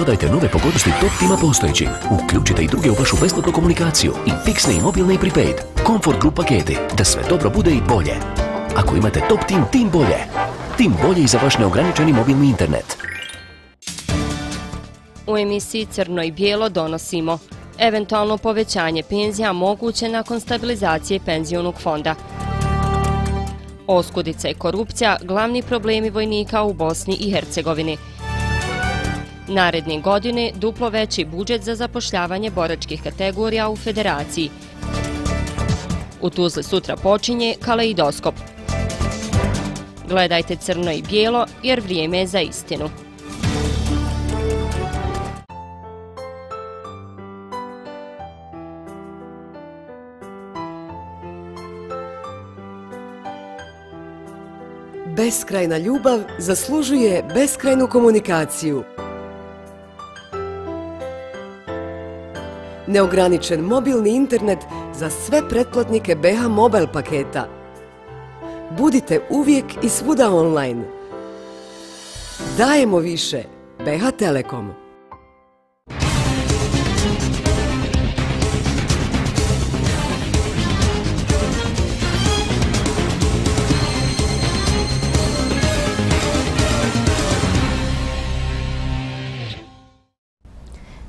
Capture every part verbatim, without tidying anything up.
Dodajte nove pogodnosti Top Tima postojećim. Uključite i druge u vašu besplatnu komunikaciju i fiksne i mobilne i prepaid. Comfort Group paketi, da sve dobro bude i bolje. Ako imate Top Tim, tim bolje. Tim bolje i za vaš neograničeni mobilni internet. U emisiji Crno i bijelo donosimo eventualno povećanje penzija moguće nakon stabilizacije penzionog fonda. Oskudica i korupcija glavni problemi vojnika u Bosni i Hercegovini. Naredne godine duplo veći budžet za zapošljavanje boračkih kategorija u Federaciji. U Tuzli sutra počinje Kaleidoskop. Gledajte Crno i bijelo jer vrijeme je za istinu. Beskrajna ljubav zaslužuje beskrajnu komunikaciju. Neograničen mobilni internet za sve pretplatnike B H Mobile paketa. Budite uvijek i svuda online. Dajemo više. B H Telekom.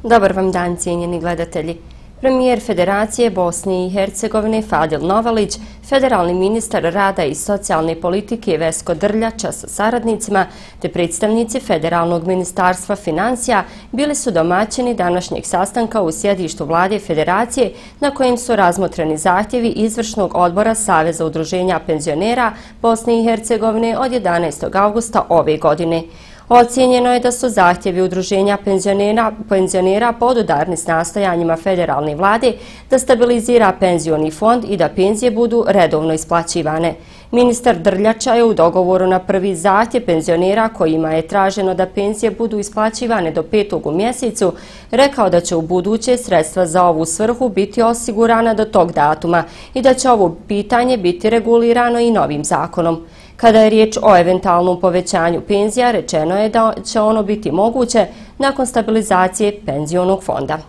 Dobar vam dan, cijenjeni gledatelji. Premijer Federacije Bosne i Hercegovine Fadil Novalić, federalni ministar rada i socijalne politike Vesko Drljača sa saradnicima te predstavnici Federalnog ministarstva financija bili su domaćini današnjeg sastanka u sjedištu Vlade Federacije na kojem su razmotreni zahtjevi Izvršnog odbora Saveza udruženja penzionera Bosne i Hercegovine od jedanaestog avgusta ove godine. Ocijenjeno je da su zahtjevi udruženja penzionera, penzionera podudarni s nastojanjima federalne vlade da stabilizira penzioni fond i da penzije budu redovno isplaćivane. Ministar Drljača je u dogovoru na prvi zahtjev penzionera kojima je traženo da penzije budu isplaćivane do petog u mjesecu rekao da će u buduće sredstva za ovu svrhu biti osigurana do tog datuma i da će ovo pitanje biti regulirano i novim zakonom. Kada je riječ o eventualnom povećanju penzija, rečeno je da će ono biti moguće nakon stabilizacije penzionog fonda.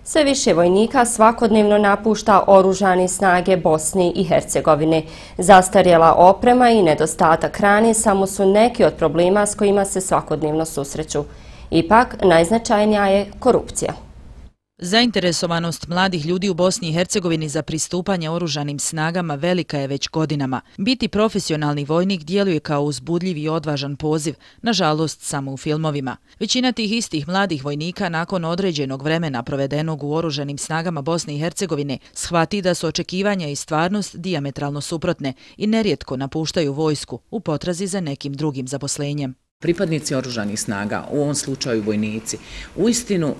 Sve više vojnika svakodnevno napušta oružane snage Bosne i Hercegovine. Zastarjela oprema i nedostatak hrane samo su neki od problema s kojima se svakodnevno susreću. Ipak, najznačajnija je korupcija. Zainteresovanost mladih ljudi u Bosni i Hercegovini za pristupanje oružanim snagama velika je već godinama. Biti profesionalni vojnik djeluje kao uzbudljiv i odvažan poziv, nažalost samo u filmovima. Većina tih istih mladih vojnika nakon određenog vremena provedenog u oružanim snagama Bosne i Hercegovine shvati da su očekivanja i stvarnost dijametralno suprotne i nerijetko napuštaju vojsku u potrazi za nekim drugim zaposlenjem. Pripadnici oružanih snaga, u ovom slučaju vojnici, uistinu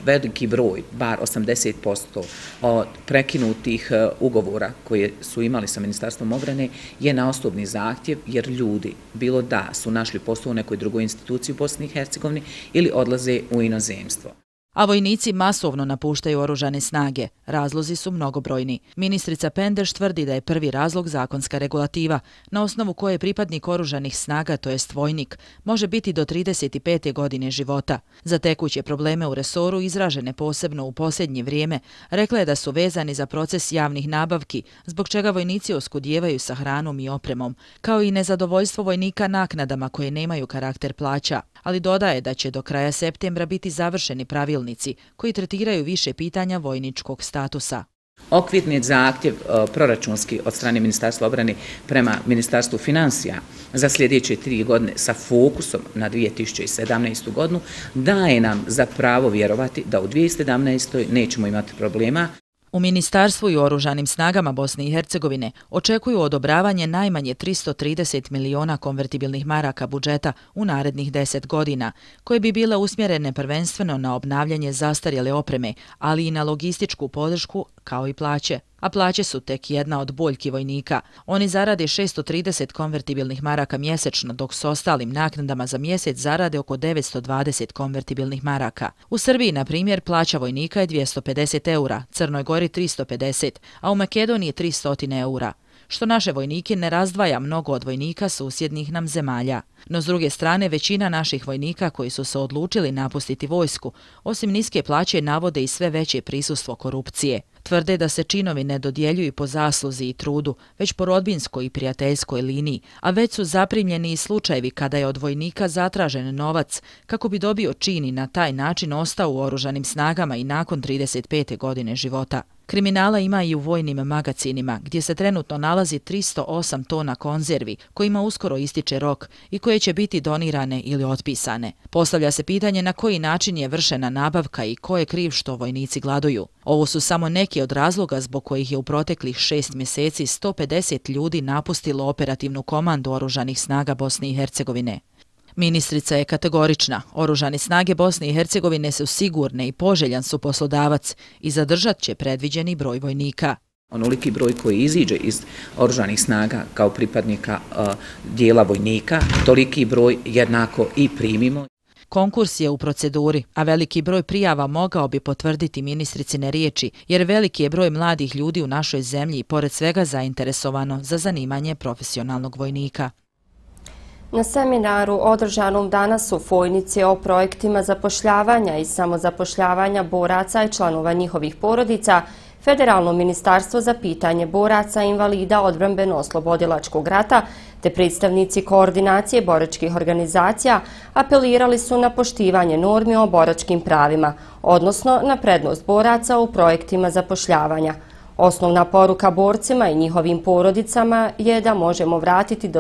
veliki broj, bar osamdeset posto od prekinutih ugovora koje su imali sa Ministarstvom obrane je na osobni zahtjev jer ljudi, bilo da su našli posao u nekoj drugoj instituciji u Bosni i Hercegovini ili odlaze u inozemstvo. A vojnici masovno napuštaju oružane snage. Razlozi su mnogobrojni. Ministrica Pendeš tvrdi da je prvi razlog zakonska regulativa, na osnovu koje pripadnik oružanih snaga, to jest vojnik, može biti do trideset pete godine života. Za tekuće probleme u resoru, izražene posebno u posljednje vrijeme, rekla je da su vezani za proces javnih nabavki, zbog čega vojnici oskudijevaju sa hranom i opremom, kao i nezadovoljstvo vojnika naknadama koje nemaju karakter plaća. Ali dodaje da će do kraja septembra biti završeni pravilnici koji tretiraju više pitanja vojničkog statusa. Okvirni zahtjev proračunski od strane Ministarstva obrane prema Ministarstvu financija za sljedeće tri godine sa fokusom na dvije tisuće sedamnaestu. godinu daje nam za pravo vjerovati da u dvije tisuće sedamnaestoj. nećemo imati problema. U Ministarstvu i oružanim snagama Bosne i Hercegovine očekuju odobravanje najmanje tristo trideset miliona konvertibilnih maraka budžeta u narednih deset godina, koje bi bile usmjerene prvenstveno na obnavljanje zastarjele opreme, ali i na logističku podršku kao i plaće. A plaće su tek jedna od boljki vojnika. Oni zarade šesto trideset konvertibilnih maraka mjesečno, dok s ostalim naknadama za mjesec zarade oko devetsto dvadeset konvertibilnih maraka. U Srbiji, na primjer, plaća vojnika je dvjesto pedeset eura, Crnoj Gori tristo pedeset, a u Makedoniji tristo eura. što naše vojnike ne razdvaja mnogo od vojnika susjednih nam zemalja. No s druge strane, većina naših vojnika koji su se odlučili napustiti vojsku, osim niske plaće, navode i sve veće prisustvo korupcije. Tvrde da se činovi ne dodjeljuju po zasluzi i trudu, već po rodbinskoj i prijateljskoj liniji, a već su zaprimljeni i slučajevi kada je od vojnika zatražen novac kako bi dobio čin i na taj način ostao u oružanim snagama i nakon trideset pete godine života. Kriminala ima i u vojnim magacinima, gdje se trenutno nalazi tristo osam tona konzervi, kojima uskoro ističe rok i koje će biti donirane ili otpisane. Postavlja se pitanje na koji način je vršena nabavka i ko je kriv što vojnici gladuju. Ovo su samo neki od razloga zbog kojih je u proteklih šest mjeseci sto pedeset ljudi napustilo operativnu komandu Oružanih snaga Bosne i Hercegovine. Ministrica je kategorična. Oružane snage Bosne i Hercegovine su sigurne i poželjan su poslodavac i zadržat će predviđeni broj vojnika. Onoliki broj koji iziđe iz oružanih snaga kao pripadnika uh, dijela vojnika, toliki broj jednako i primimo. Konkurs je u proceduri, a veliki broj prijava mogao bi potvrditi ministricine riječi, jer veliki je broj mladih ljudi u našoj zemlji i pored svega zainteresovano za zanimanje profesionalnog vojnika. Na seminaru održanom danas u Fojnici o projektima zapošljavanja i samozapošljavanja boraca i članova njihovih porodica, Federalno ministarstvo za pitanje boraca i invalida odbrambeno-oslobodilačkog rata te predstavnici koordinacije boračkih organizacija apelirali su na poštivanje normi o boračkim pravima, odnosno na prednost boraca u projektima zapošljavanja. Osnovna poruka borcima i njihovim porodicama je da možemo vratiti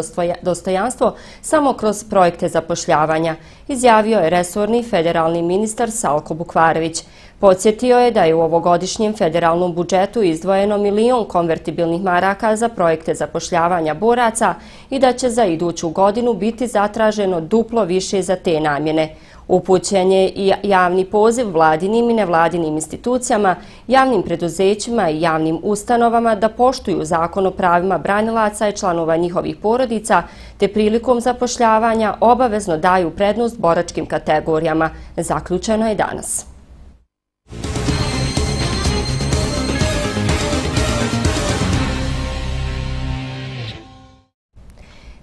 dostojanstvo samo kroz projekte zapošljavanja, izjavio je resorni federalni ministar Salko Bukvarević. Podsjetio je da je u ovogodišnjem federalnom budžetu izdvojeno milion konvertibilnih maraka za projekte zapošljavanja boraca i da će za iduću godinu biti zatraženo duplo više za te namjene. Upućen je i javni poziv vladinim i nevladinim institucijama, javnim preduzećima i javnim ustanovama da poštuju zakon o pravima branilaca i članova njihovih porodica, te prilikom zapošljavanja obavezno daju prednost boračkim kategorijama. Zaključeno je danas.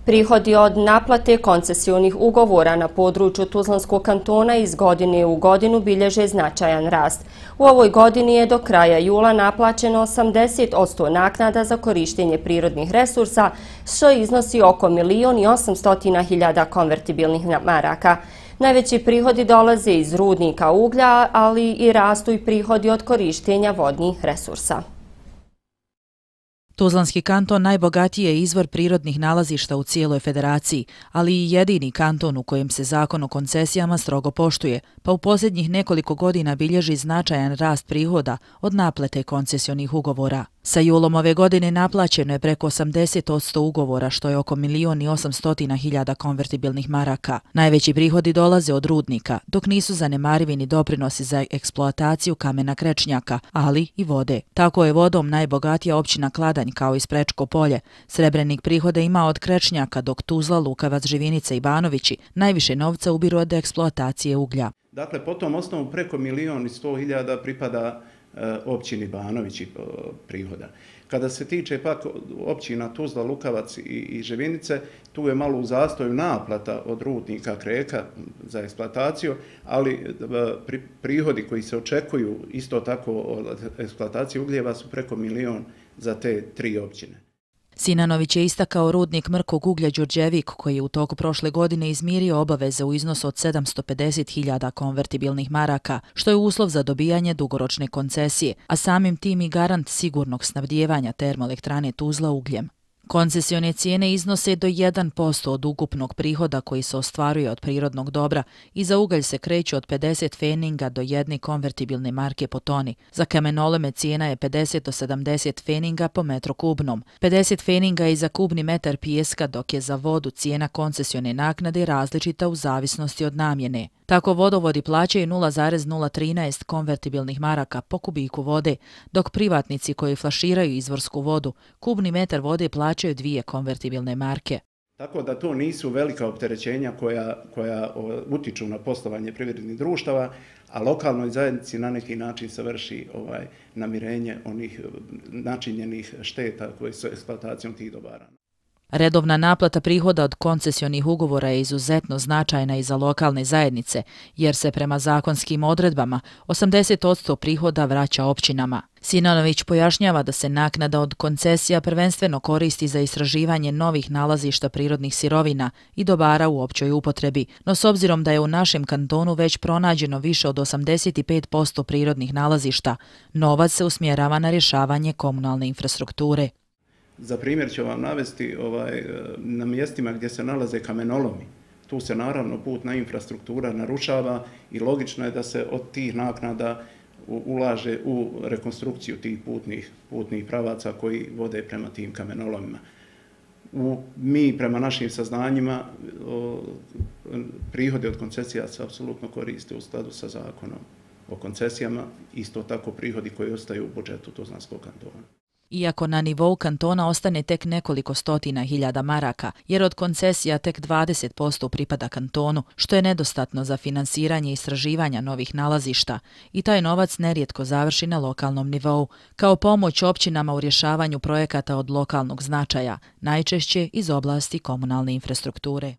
Prihodi od naplate koncesijnih ugovora na području Tuzlanskog kantona iz godine u godinu bilježe značajan rast. U ovoj godini je do kraja jula naplaćeno osamdeset posto naknada za korištenje prirodnih resursa, što iznosi oko milion i osamstotina hiljada konvertibilnih maraka. Najveći prihodi dolaze iz rudnika uglja, ali i rastu i prihodi od korištenja vodnih resursa. Tuzlanski kanton najbogatiji je izvor prirodnih nalazišta u cijeloj federaciji, ali i jedini kanton u kojem se zakon o koncesijama strogo poštuje, pa u posljednjih nekoliko godina bilježi značajan rast prihoda od naplate koncesionih ugovora. Sa julom ove godine naplaćeno je preko osamdeset posto ugovora, što je oko milion i osamstotina hiljada konvertibilnih maraka. Najveći prihodi dolaze od rudnika, dok nisu zanemarivi ni doprinosi za eksploataciju kamena krečnjaka, ali i vode. Tako je vodom najbogatija općina Kladanj, kao i Sprečko polje. Srebrenik prihoda ima od krečnjaka, dok Tuzla, Lukavac, Živinica i Banovići najviše novca ubiru od eksploatacije uglja. Dakle, po tom osnovu preko milion i sto hiljada pripada općini Banovići prihoda. Kada se tiče pak općina Tuzla, Lukavac i Živinice, tu je malo u zastoju naplata od rudnika Kreka za eksploataciju, ali prihodi koji se očekuju isto tako od eksploatacije ugljeva su preko milion za te tri općine. Sinanović je istakao rudnik mrkog uglja Đurđevik, koji je u toku prošle godine izmirio obaveze u iznosu od sedamsto pedeset hiljada konvertibilnih maraka, što je uslov za dobijanje dugoročne koncesije, a samim tim i garant sigurnog snabdijevanja termoelektrane Tuzla ugljem. Koncesione cijene iznose do jedan posto od ukupnog prihoda koji se ostvaruje od prirodnog dobra i za ugalj se kreću od pedeset feninga do jedne konvertibilne marke po toni. Za kamenolome cijena je pedeset do sedamdeset feninga po metru kubnom. pedeset feninga je za kubni metar pijeska, dok je za vodu cijena koncesione naknade različita u zavisnosti od namjene. Tako vodovodi plaćaju nula zarez nula trinaest konvertibilnih maraka po kubiku vode, dok privatnici koji flaširaju izvorsku vodu kubni metar vode plaćaju dvije konvertibilne marke. Tako da to nisu velika opterećenja koja, koja utiču na poslovanje privrednih društava, a lokalnoj zajednici na neki način se vrši ovaj, namirenje onih načinjenih šteta koje su eksploatacijom tih dobara. Redovna naplata prihoda od koncesionih ugovora je izuzetno značajna i za lokalne zajednice, jer se prema zakonskim odredbama osamdeset posto prihoda vraća općinama. Sinanović pojašnjava da se naknada od koncesija prvenstveno koristi za istraživanje novih nalazišta prirodnih sirovina i dobara u općoj upotrebi, no s obzirom da je u našem kantonu već pronađeno više od osamdeset pet posto prirodnih nalazišta, novac se usmjerava na rješavanje komunalne infrastrukture. Za primjer ću vam navesti ovaj, na mjestima gdje se nalaze kamenolomi. Tu se naravno putna infrastruktura narušava i logično je da se od tih naknada ulaže u rekonstrukciju tih putnih, putnih pravaca koji vode prema tim kamenolomima. U, mi prema našim saznanjima o, prihode od koncesija se apsolutno koriste u skladu sa zakonom o koncesijama, isto tako prihodi koji ostaju u budžetu Tuzlanskog kantona. Iako na nivou kantona ostane tek nekoliko stotina hiljada maraka, jer od koncesija tek dvadeset posto pripada kantonu, što je nedostatno za finansiranje istraživanja novih nalazišta, i taj novac nerijetko završi na lokalnom nivou, kao pomoć općinama u rješavanju projekata od lokalnog značaja, najčešće iz oblasti komunalne infrastrukture.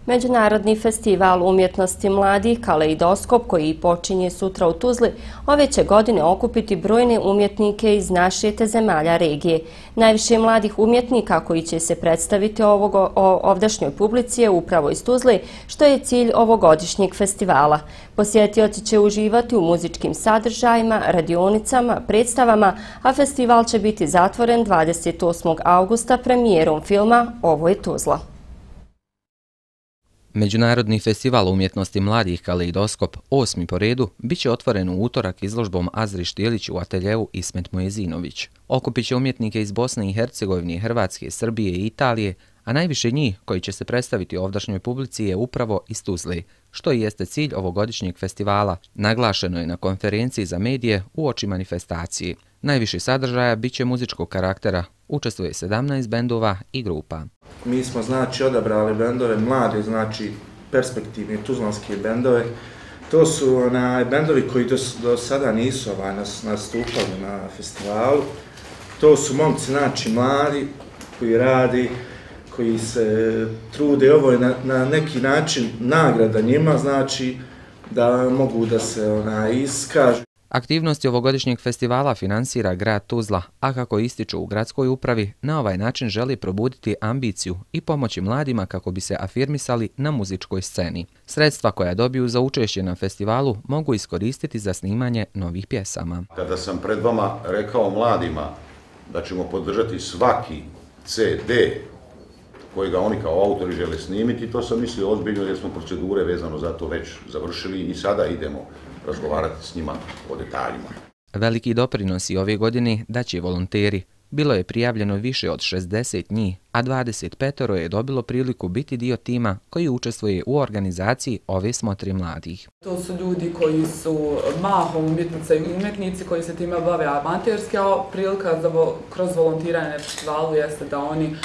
Međunarodni festival umjetnosti mladih Kaleidoskop, koji počinje sutra u Tuzli, ove će godine okupiti brojne umjetnike iz naše te zemalja regije. Najviše mladih umjetnika koji će se predstaviti ovog, o, ovdašnjoj publici je upravo iz Tuzli, što je cilj ovogodišnjeg festivala. Posjetioci će uživati u muzičkim sadržajima, radionicama, predstavama, a festival će biti zatvoren dvadeset osmog augusta premijerom filma Ovo je Tuzla. Međunarodni festival umjetnosti mladih Kaleidoskop, osmi po redu, bit će otvoren u utorak izložbom Azri Štilić u ateljevu Ismet Mojezinović. Okupit će umjetnike iz Bosne i Hercegovine, Hrvatske, Srbije i Italije, a najviše njih koji će se predstaviti ovdašnjoj publici je upravo iz Tuzle, što i jeste cilj ovogodišnjeg festivala. Naglašeno je na konferenciji za medije uoči manifestacije. Najviše sadržaja bit će muzičkog karaktera, učestvuje sedamnaest bendova i grupa. Mi smo znači odabrali bendove mlade, znači perspektivne tuzlanske bendove. To su onaj bendovi koji do, do sada nisu ovaj, nas, nastupali na festivalu. To su momci znači mladi koji radi, koji se trude. Ovo je na, na neki način nagrada njima, znači da mogu da se onaj iskažu. Aktivnosti ovogodišnjeg festivala finansira grad Tuzla, a kako ističu u gradskoj upravi, na ovaj način želi probuditi ambiciju i pomoći mladima kako bi se afirmisali na muzičkoj sceni. Sredstva koja dobiju za učešće na festivalu mogu iskoristiti za snimanje novih pjesama. Kada sam pred vama rekao mladima da ćemo podržati svaki ce de koji ga oni kao autori žele snimiti, to sam mislio ozbiljno jer smo procedure vezano za to već završili i sada idemo razgovarati s njima o detaljima. Veliki doprinosi ove godine daće volonteri. Bilo je prijavljeno više od šezdeset njih, a dvadeset pet je dobilo priliku biti dio tima koji učestvuje u organizaciji ove smotre mladih. To su ljudi koji su mahom umjetnice i umjetnici koji se time bave amaterski, a prilika za vo, kroz volontiranje na festivalu jeste da oni e,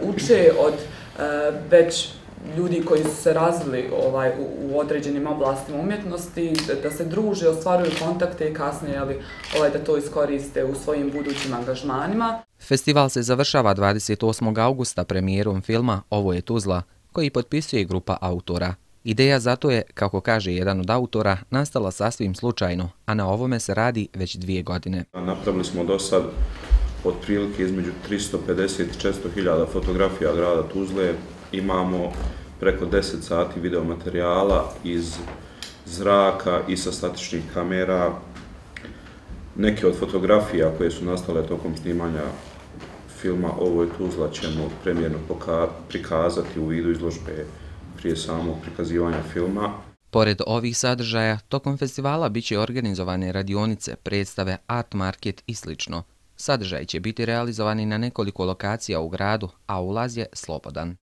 uče od e, već ljudi koji su se razvili ovaj, u, u određenim oblastima umjetnosti, da se druže, ostvaruju kontakte i kasnije ali, ovaj, da to iskoriste u svojim budućim angažmanima. Festival se završava dvadeset osmog augusta premijerom filma Ovo je Tuzla, koji potpisuje grupa autora. Ideja zato je, kako kaže jedan od autora, nastala sasvim slučajno, a na ovome se radi već dvije godine. Napravili smo do sad otprilike između tristo pedeset i četiristo hiljada fotografija grada Tuzle. Imamo preko deset sati videomaterijala iz zraka i sa statičnih kamera. Neke od fotografija koje su nastale tokom snimanja filma Ovo je Tuzla ćemo premijerno prikazati u vidu izložbe prije samog prikazivanja filma. Pored ovih sadržaja, tokom festivala bit će organizovane radionice, predstave, art market i slično. Sadržaj će biti realizovani na nekoliko lokacija u gradu, a ulaz je slobodan.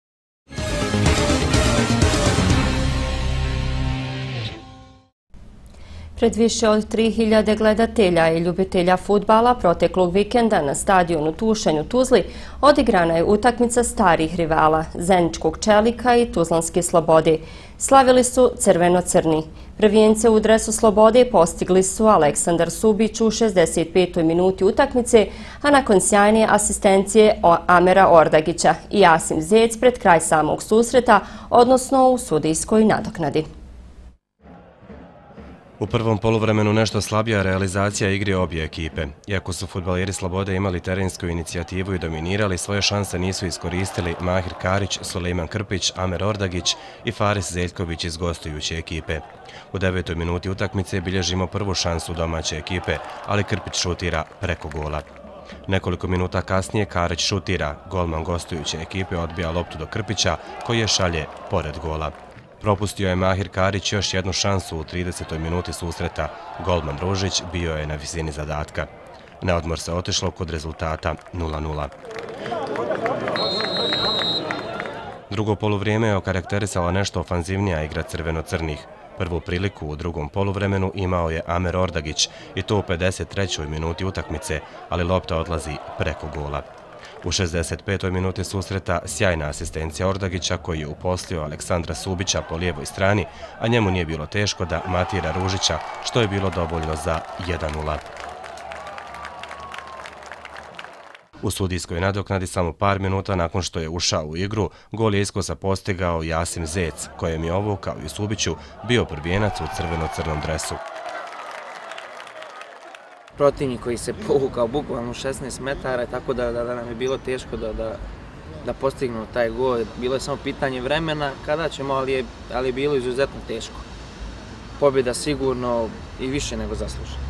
Pred više od tri hiljade gledatelja i ljubitelja fudbala proteklog vikenda na stadionu Tušanj u Tuzli odigrana je utakmica starih rivala, Zeničkog Čelika i Tuzlanske Slobode. Slavili su crveno-crni. Prvijence u dresu Slobode postigli su Aleksandar Subić u šezdeset petoj minuti utakmice, a nakon sjajne asistencije Amera Ordagića i Jasim Zec pred kraj samog susreta, odnosno u sudijskoj nadoknadi. U prvom poluvremenu nešto slabija realizacija igre obje ekipe. Iako su fudbaleri Slobode imali terensku inicijativu i dominirali, svoje šanse nisu iskoristili Mahir Karić, Sulejman Krpić, Amer Ordagić i Faris Zeljković iz gostujuće ekipe. U devetoj minuti utakmice bilježimo prvu šansu domaće ekipe, ali Krpić šutira preko gola. Nekoliko minuta kasnije Karić šutira, golman gostujuće ekipe odbija loptu do Krpića, koji je šalje pored gola. Propustio je Mahir Karić još jednu šansu u tridesetoj minuti susreta. Golman Ružić bio je na visini zadatka. Na odmor se otišlo kod rezultata nula nula. Drugo poluvrijeme je okarakterisala nešto ofanzivnija igra crveno-crnih. Prvu priliku u drugom poluvremenu imao je Amer Ordagić i to u pedeset trećoj minuti utakmice, ali lopta odlazi preko gola. U šezdeset petoj minuti susreta sjajna asistencija Ordagića koji je uposlio Aleksandra Subića po lijevoj strani, a njemu nije bilo teško da matira Ružića, što je bilo dovoljno za jedan nula. U sudijskoj nadoknadi samo par minuta nakon što je ušao u igru, gol je iskosa postigao Jasim Zec, kojem je ovo, kao i Subiću, bio prvijenac u crveno-crnom dresu. Protivnik koji se povukao bukvalno šesnaest metara, tako da, da, da nam je bilo teško da, da, da postignemo taj gol. Bilo je samo pitanje vremena kada ćemo, ali je, ali je bilo izuzetno teško. Pobjeda sigurno i više nego zaslužena.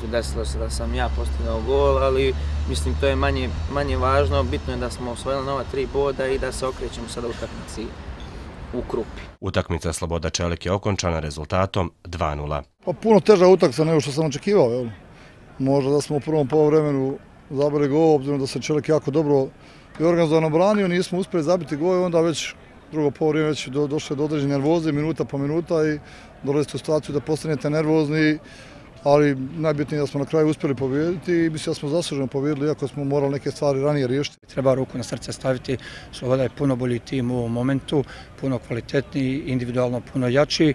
Tu desilo se da sam ja postigao gol, ali mislim to je manje, manje važno. Bitno je da smo osvojili nova tri boda i da se okrećemo sada u utakmici u Krupi. Utakmica Sloboda Čelik je okončana rezultatom dva nula. Pa puno teža utakmica nego što sam očekivao, jel? Možda da smo u prvom poluvremenu zabili gol, obzirom da se Čelik jako dobro i organizovano branio, nismo uspjeli zabiti gol i onda već drugo poluvreme već do, došle do određene nervoze, minuta po minuta i dolazite u situaciju da postanete nervozni, ali najbitnije da smo na kraju uspjeli pobijediti i mislim da smo zasluženo pobijedili, iako smo morali neke stvari ranije riješiti. Treba ruku na srce staviti, Sloboda je puno bolji tim u ovom momentu, puno kvalitetniji, individualno puno jači,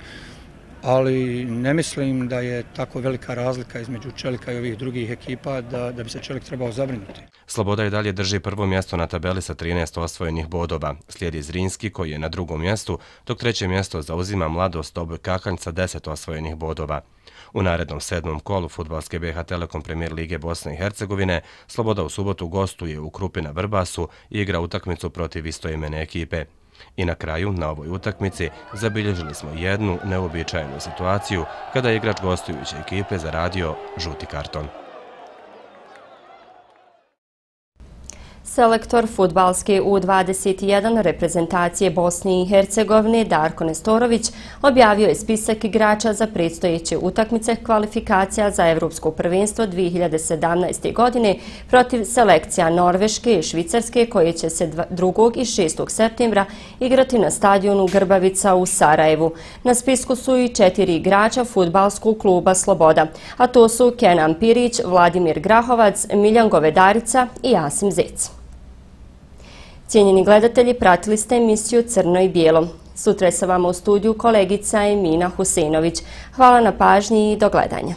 ali ne mislim da je tako velika razlika između Čelika i ovih drugih ekipa da, da bi se Čelik trebao zabrinuti. Sloboda i dalje drži prvo mjesto na tabeli sa trinaest osvojenih bodova. Slijedi Zrinski koji je na drugom mjestu, dok treće mjesto zauzima Mladost Doboj Kakanj sa deset osvojenih bodova. U narednom sedmom kolu fudbalske B H Telekom Premier Lige Bosne i Hercegovine Sloboda u subotu gostuje u Krupi na Vrbasu i igra utakmicu protiv istoimene ekipe. I na kraju, na ovoj utakmici, zabilježili smo jednu neuobičajenu situaciju kada je igrač gostujuće ekipe zaradio žuti karton. Selektor fudbalske U dvadeset jedan reprezentacije Bosne i Hercegovine Darko Nestorović objavio je spisak igrača za predstojeće utakmice kvalifikacija za Evropsko prvenstvo dvije hiljade sedamnaeste. godine protiv selekcija Norveške i Švicarske koje će se drugog i šestog septembra igrati na stadionu Grbavica u Sarajevu. Na spisku su i četiri igrača fudbalskog kluba Sloboda, a to su Kenan Pirić, Vladimir Grahovac, Miljan Govedarica i Jasim Zec. Cijenjeni gledatelji, pratili ste emisiju Crno i bijelo. Sutra je sa vama u studiju kolegica Emina Husejnović. Hvala na pažnji i do gledanja.